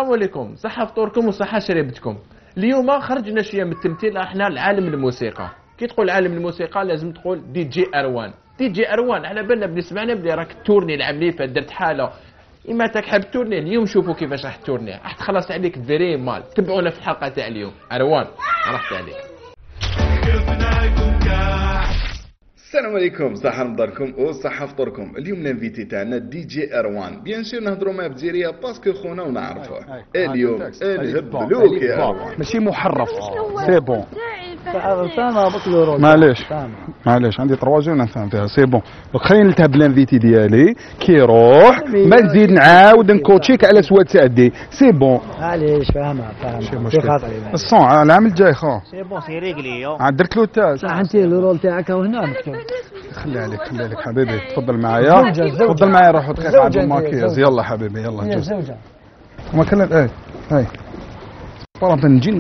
السلام عليكم، صحة فطوركم وصحة شريبتكم. اليوم خرجنا شويه من التمثيل، احنا لعالم الموسيقى. كي تقول عالم الموسيقى لازم تقول دي جي اروان. دي جي اروان على بالنا بنسمعنا بلي راك تورني العمليه، درت حاله اما تحب تورني. اليوم شوفوا كيفاش راح تورني، راح تخلص عليك فيري مال. تبعونا في الحلقه تاع اليوم. اروان راحت عليك. السلام عليكم، صحة نضركم وصحة فطوركم. اليوم الانفيتي تاعنا دي جي اروان. بيان سور نهضروا مع بزيريه باسكو خونا ونعرفوه. اليوم نهبلوك يا اروان. ماشي محرف، سي بون. معليش عندي 3 جون نفهم فيها سي بون. دونك خلينا نلتهب الانفيتي ديالي كي يروح ما نزيد نعاود نكوتشيك على سواد سادي سي بون. معليش فاهمها في خاطري الصون العام الجاي خو سي بون سي ريغلي. درت له التاج صح انت الرول تاعك هنا مكتوب. خلي عليك حبيبي، تفضل معايا تفضل معايا. روحوا دقيقه عند الماكياج. يلا حبيبي يلا جوز ما كان هاي طالما نجي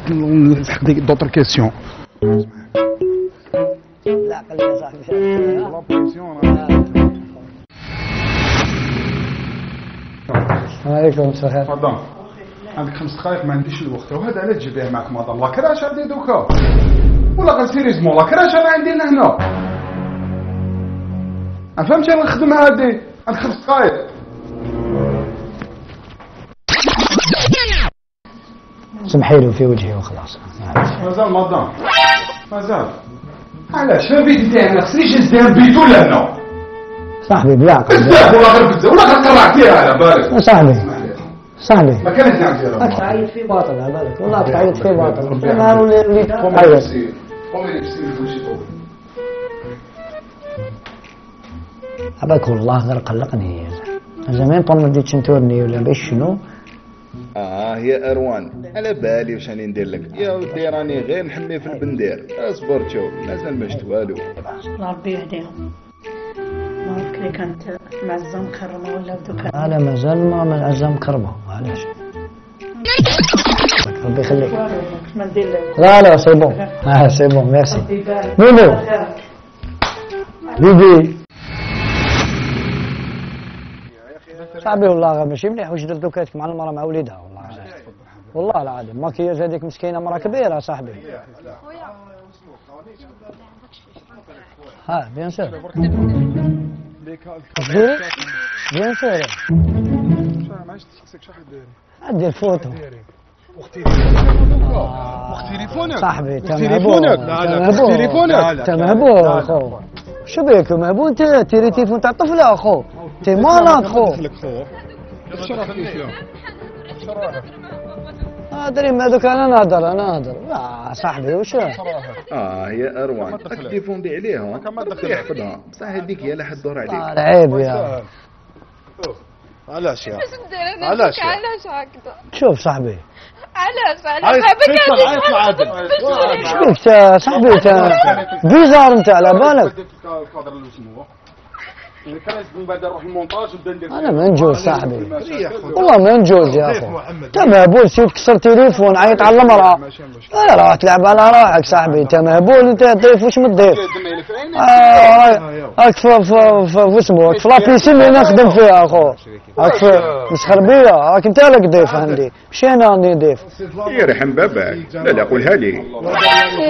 نسحق ديك دوطر كيسيون. لا خلينا صاحبي عليكم السلام. تفضل عندك 5 دقائق. ما عنديش الوقت وهذا علاش تجي بيه معك مدام. لا كراش عندي دوكا ولا غير سيريزمون. لا كراش انا عندي هنا ما فهمتش. انا نخدم هادي عندك 5 دقائق. سمحي له في وجهي وخلاص. مازال مدام مازال. علاش الفيديو تاعنا خصنيش نزدان بيتو لهنا صاحبي بالعقل بزاف ولا غير بزاف ولا غير قرعت فيها على بالك. صاحبي ما كانش نعرف راك تعيط في باطل على بالك. والله تعيط في باطل. انا وليت تعيط. عباك والله غير قلقني زمان طول ما بديت نتورني ولا باش شنو. يا اروان على بالي واش راني ندير لك يا ودي. راني غير نحمي في البندير. اصبر شوف مازال ما شفت والو. ربي يهديهم. ما عرفت كلي كانت معزه مكرمه ولا بدوك. لا مازال ما معزه مكرمه. معليش ربي يخليك. ما ندير لك. لا سي بون. سي بون ميرسي. ميمو بيبي صاحبي والله ماشي مليح واش درت دوكاتك مع المراه مع وليدها. والله العظيم ماكياج هذيك مسكينه مراه كبيره صاحبي. بيان سور بيان سور. عندي الفوتو صاحبي. تليفونك مهبول اخو. شو بيك مهبول انت؟ تيري تليفون تاع طفله اخو. تي مالك خو. ادري ما دوك انا نهضر. صاحبي واش يا اروان التليفون دي عليهم يحفظها بصح هذيك هي لا حد دور عليك. عيب يا علاش هكذا؟ شوف صاحبي علاش شبيك صاحبي انت بيزار انت على بالك. انا ما نجوز صاحبي والله ما نجوز يا اخو. انت مهبول سيد كسر تليفون عيط على المرأة. راح تلعب على روحك صاحبي. انت مهبول انت ضيف واش متضيف. راك في اسمه في لابيسين اللي نخدم فيها اخو. راك في مسخربيه. راك انت لك ضيف عندي ماشي انا عندي ضيف. يرحم باباك. لا قولها لي.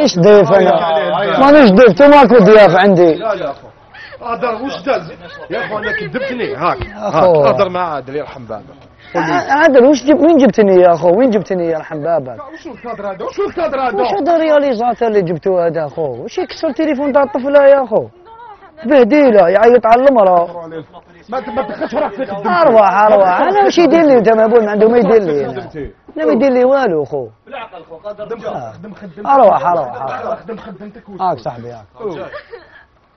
ايش ضيف انا؟ مانيش ضيف. انت ماكو ضياف عندي. هضر واش داز يا اخو. انا كذبتني. هاك هضر مع عادل يرحم بابك. عادل وين جبتني يا اخو؟ وين جبتني يرحم بابك؟ وشو الكادر هذا؟ وش هذا الرياليزاتور اللي جبتوه هذا اخو؟ وش يكسر تليفون تاع الطفله يا اخو؟ بهديله يعيط على المراه. ما تدخلش روحك في خدمتك. اروح انا واش يدير لي؟ انت مهبول ما عنده ما يدير لي. لا ما يدير لي والو اخو. بالعقل خو خدم خدمتك. اروح خدم خدمتك. هاك صاحبي هاك.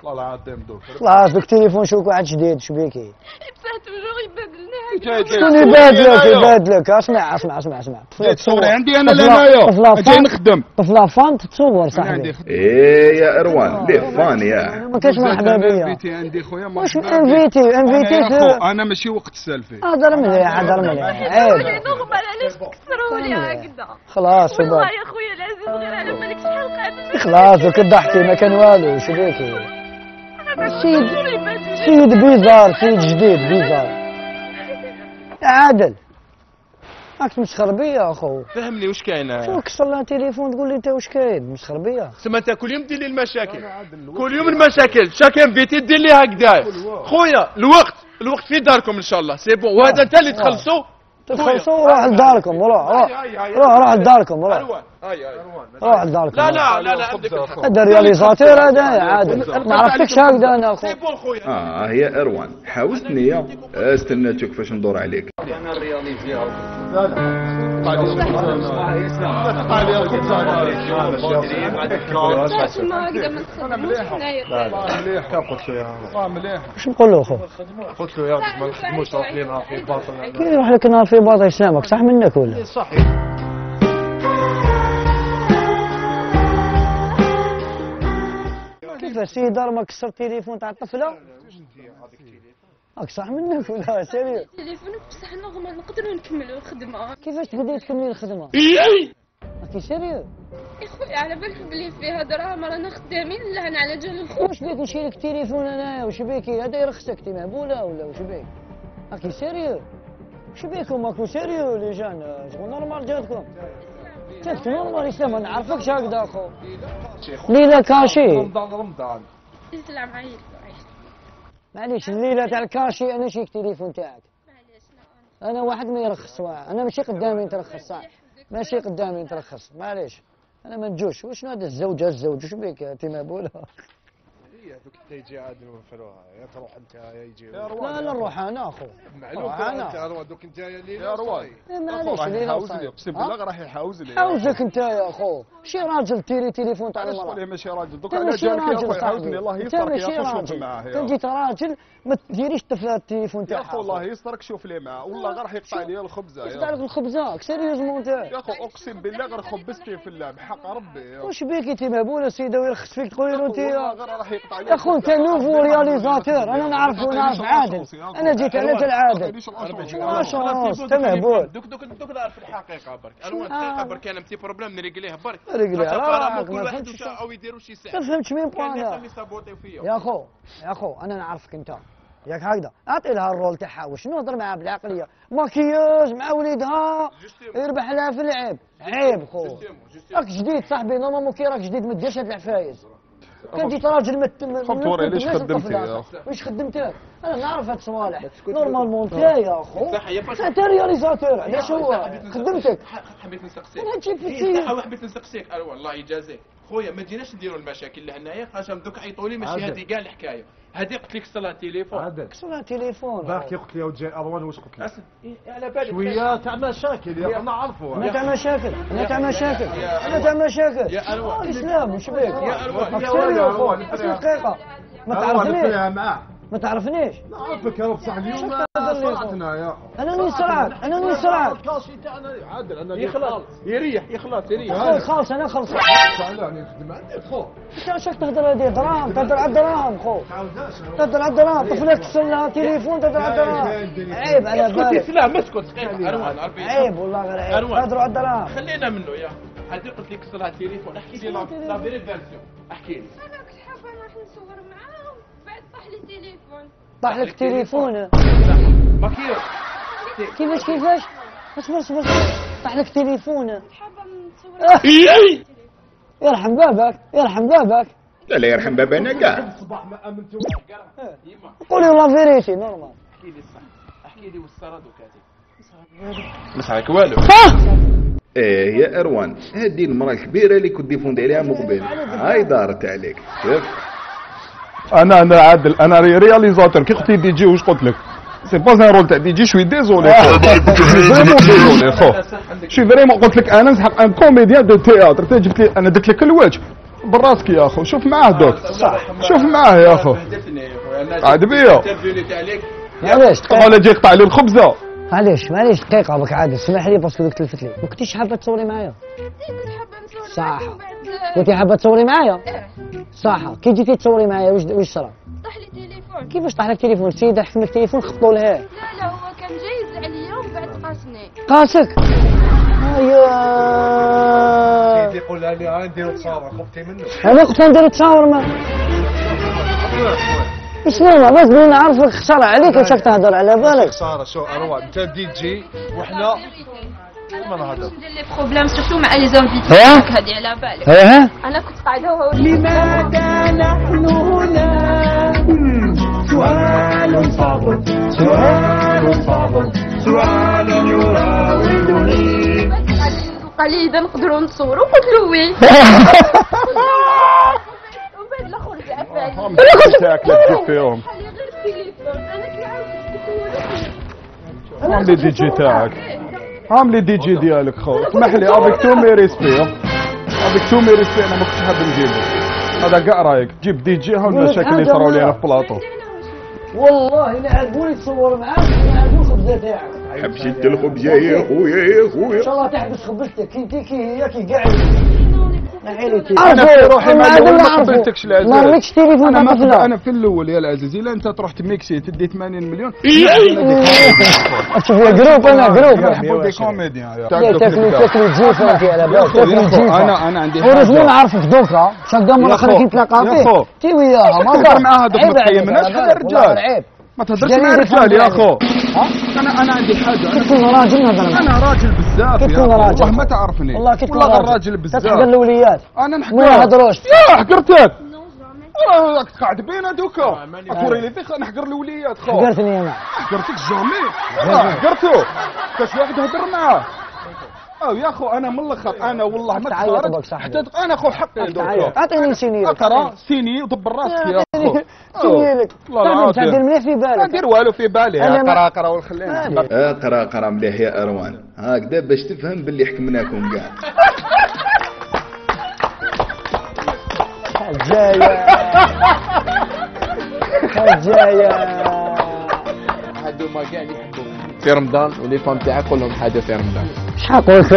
والله العظيم دوك خلاص دوك تليفون شوك واحد جديد. شو بيكي؟ بصح توجور يبدلنا. شكون يبادلك؟ اسمع تصوري عندي انا لهنايا جاي نخدم. طفله فان تتصور صاحبي. يا اروان ليه فان يا ما كاش مرحبا بيا. انفيتي عندي خويا. واش انفيتي انا ماشي وقت السالفه. هضر مليح عيب. نغمر علاش تكسروا لي هكذا. خلاص والله يا خويا العزيز غير على بالك شحال قعدت. خلاص دوك ضحكي ما كان والو. شو بيكي؟ سيد بيزار. سيد جديد بيزار. عادل راك مسخر بيا اخو. فهمني واش كاين. شو كسر لها تليفون تقول لي انت واش كاين؟ مسخر بيا. سما انت كل يوم دير لي المشاكل، كل يوم المشاكل، شاكين فيتي دير لي هكذا. خويا الوقت في داركم ان شاء الله، سي بون، وهذا انت اللي تخلصوا. روح لداركم، روح لداركم، روح لداركم. لا هذا رياليزاتور هذا عادل، ما عرفتكش هكذا انا اخو. سي بون خويا. هي اروان حاوزتني يا استنى تشوف كيفاش ندور عليك. انا الرياليزيها واش نقول له اخو؟ قلت له يا ما نخدموش روح لي نهار في باطل. كي يروح لك نهار في باطل يسلمك صح منك ولا؟ صحيح. كيف سي دار ما كسر تليفون تاع الطفله؟ راك صح منك ولا سيريو؟ تليفونك بصح نورمال نقدروا نكملوا الخدمه. كيفاش تقدري تكملي الخدمه؟ راكي سيريو؟ يا خويا على بالك بلي فيها دراهم رانا خدامين لهنا على جال الخوف. واش بيك نشيلك التليفون انايا واش بيكي؟ هذا يرخصك انت مهبوله ولا واش بيك؟ راكي سيريو؟ واش بيكم ماكو سيريو لي جان؟ شغل نورمال جاتكم؟ جاتك نورمال اسلام ما نعرفكش هكذا اخو. ليلة كاشي. رمضان. يسلم عيل. معليش الليلة تاع الكاشي انا شيك التليفون تاعك. معليش انا واحد ما يرخص، انا ماشي قدامي نترخص صح؟ ماشي قدامي نترخص معليش. انا ما نجوش، واش هذا الزوج واش بيك انت مهبوله؟ هي دوك تيجي عاد نوفروها، يا تروح انت يا يجي. لا نروح انا اخو. معلوم انت اروى دوك انت يا روان. معليش الليله حاوزني اقسم بالله راح يحاوزني. حاوزك انت يا اخو، شي راجل تيري تليفون تاع المراه. علاش ماشي راجل دوك على جالك يا اخو يحاوزني الله يسترك يا اخو شوف معاه. كان جيت راجل ما تديريش طفله التليفون تاعها. يا اخو الله يسترك شوف لي معاه والله غير راح يقطع لي الخبزه. يقطع لك الخبزه سيريوزمون انت. يا اخو اقسم بالله غير خبزتي في اللعب حق ربي. واش بيك انت مهبوله سيده ويرخص فيك تقولي له انت غير راح يقطع لي. يا اخو انت نوفو رياليزاتور انا نعرف عادل، انا جيت على جال عادل. شونس انت مهبول. دوك نعرف الحقيقه برك، الحقيقه برك انا متي بروبليم نريقليه برك. ريقليه راك كل واحد او يديروا شي ساعه. ما فهمتش مين بوانا. يا اخو انا نعرفك انت ياك هكذا، اعطي لها الرول تاعها واش نهضر معها بالعقليه، ماكياج مع وليدها يربح لها في العيب، عيب خو. راك جديد صاحبي نورمالمون كي راك جديد ما ديرش هاد العفايز. كان جيت راجل خمتوري ليش خدمتي يا اخو؟ واش خدمتك؟ انا نعرف هاد الصوالح نورمالمون انت يا اخو انت رياليزاتور علاش هو خدمتك؟ حبيت نسقسيك انا تجيب في السير حبيت نسقسيك والله يجازيك خويا ما تجيناش نديروا المشاكل لهنايا خاصهم دوك عيطوا لي ماشي هذه كاع الحكايه. هذه قلت لك صلاه تليفون كسرها تليفون باقي قلت لي وجاي اروان واش قلت لك؟ على بالك شويه تاع مشاكل يا نعرفوا. انا تاع مشاكل انا تاع مشاكل انا تاع مشاكل يا اروان الاسلام واش بيك؟ يا اروان يا اروان دقيقه ما تعرفنيش معاه ما تعرفنيش نعرفك يا بصح اليوم صرعتنا يا انا نسرعك انا نسرعك الكاشي تاعنا عادل انا يخلص يريح خلاص انا خلص انا نخدم عندي خو انت عشاك تهضر هذه دراهم تهضر على الدراهم خو تهضر على الدراهم طفلك كسر لها تليفون تهضر على الدراهم عيب على بالك لا ما تسكت اروان عيب والله غير عيب تهضروا على الدراهم خلينا منه يا هذه قلت لك كسر لها تليفون احكي لي لا فيري فيرسيون احكي لي انا كنت حابه نروح نصور معاهم بعد طاح لي التليفون طاح لك تليفون ماكياج كيفاش اصبر طاح لك تليفون حابه نصور يرحم بابك لا يرحم بابانا كاع. الصباح ما امنتوا قولي لا فيريتي نورمال احكي لي الصح احكي لي والسرد وكاتب مسحك والو. يا اروان هذه المراه الكبيره اللي كنت ديفوندي عليها من قبل هاي دارت عليك شوف. انا عادل انا رياليزاتور كي قلت لي دي جي واش قلت لك؟ سي با ان رول تاع دي جي شوي ديزولي فريمون ديزولي خو شي فريمون قلت لك انا نسحق ان كوميديان دو تياتر انت جبت لي انا درت لك الوجه براسك يا اخو شوف معاه دوك شوف معاه يا اخو عاد بيا معليش ولا جاي يقطع لي الخبزه معليش دقيقه بك عادل اسمح لي باسكو دوك تلفت لي ما كنتيش حابه تصوري معايا كنت حابه نصور صح معاكم بعد كنتي حابه تصوري معايا صح كي جيتي تصوري معايا واش صرا طاح لي تليفون كيفاش طاح لك تليفون السيده حفلك تليفون خبطوا لها لا هو كان جايز عليا ومن بعد قاسني قاسك سيدي يقول لي ها نديرو تصاور خفتي منه انا قلت نديرو تصاور ما شنو ما تقول نعرفك خساره عليك واش راك تهضر على بالك خساره شو اروان انت دي جي وحنا كيما نهضر ندير لي بروبليم سورتو مع لي زانفيتي هادي على بالك. انا كنت قاعده هو لماذا نحن هنا؟ سؤال صعب سؤال يراودني. قال لي اذا نقدروا نتصوروا قلت له وي. ومن بعد الاخر رجع فاهم. انا تاعك لا تجيب فيهم. خلي غير التليفون انا كي عاودت هام لي دي جي تاعك، هام لي دي جي ديالك خو، اسمح لي افيك تو مي ريسبي، افيك تو مي ريسبي انا ما كنتش حاب نجيبه، هذا كاع رايك، تجيب دي جي ها المشاكل اللي صراو لينا في بلاطو. والله لا عرفوني تصور معاك لا عرفوني الخبزه تاعك. حبشت الخبزه يا خويا ان شاء الله تحبس خبزتك كي هي كي قاعد. انا في روحي ما قبلتكش العزيز، ما رميتش تليفون تاع طفله. انا في الاول يا العزيز الا انت تروح تميكسي تدي 80 مليون. شوف يا جروب انا جروب نحبوا دي كوميديان تاكلوا جيف انت على بالك تاكلوا جيف. انا عندي حاجه ورجلي نعرفك دوكا شقا مره اخرى كي نتلاقى فيه تي وياها ما تهضر مع هذوك ما تقيمناش حتى الرجال. عيب ما تهضرش مع الرجال يا اخو. انا عندي حاجه، كي تكون راجل نهضر معاك. انا راجل بزاف كي تكون راجل والله ما تعرفني والله كي تكون راجل بزاف. تحقر الاوليات انا نحكي ما يهضروش يا حقرتك راك قاعد بينا دوكا توريني فيك نحقر الاوليات خو. حقرتني انا حقرتك جامي حقرتو كاش واحد هضر معاه. يا اخو انا من الاخر انا والله ما تعيط حتى انا خو حقي دوكا. اعطيني سيني اقرا سيني ودبر راسك يا اخو. سيني لك تعدل مليح في بالك. ما ندير والو في بالي. اقرا وخلينا اقرا مليح يا اروان هكذا باش تفهم باللي حكمناكم كاع. حجايه هادو ما كاع اللي يحبوا في رمضان ولي فام تاعك قول لهم حاجه في رمضان. شحال قلت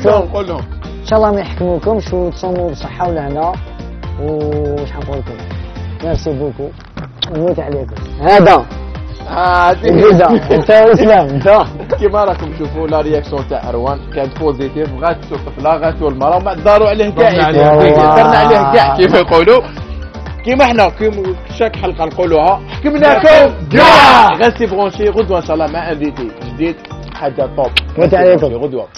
لهم قول لهم ان شاء الله ما يحكموكمش وتصوموا بصحه ولهنا وش نقول لكم ميرسي بوكو نموت عليكم. هذا انت اسلام انت كيما راكم تشوفوا لا رياكسيون تاع اروان كانت بوزيتيف غاتو الطفله غاتو المراه وما داروا عليه كاع درنا عليه كاع كيف يقولوا كيما حنا شاك حلقه نقولوها حكمناكم كاع. غاسي برونشي غدوه ان شاء الله مع انفيتي جديد حاجه طوب. نموت عليكم غدوه.